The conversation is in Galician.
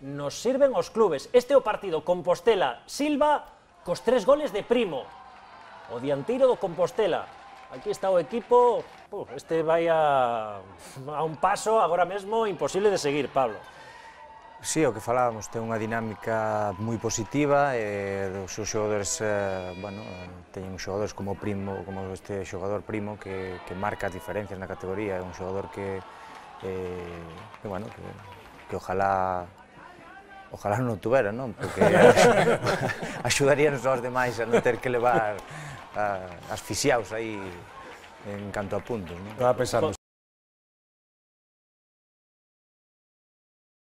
nos sirven os clubes. Este é o partido Compostela-Silva cos 3 goles de Primo, o dianteiro do Compostela. Aquí está o equipo, este vai a un paso agora mesmo imposible de seguir, Pablo. Sí, o que falábamos, ten unha dinámica moi positiva, os seus xogadores, bueno, teñen xogadores como Primo, como este xogador Primo, que marca as diferencias na categoría, é un xogador que bueno, que ojalá non o tuvera, non? Porque axudaríanos aos demais a non ter que levar asfixiados aí en canto a puntos, non? Estaba pensando,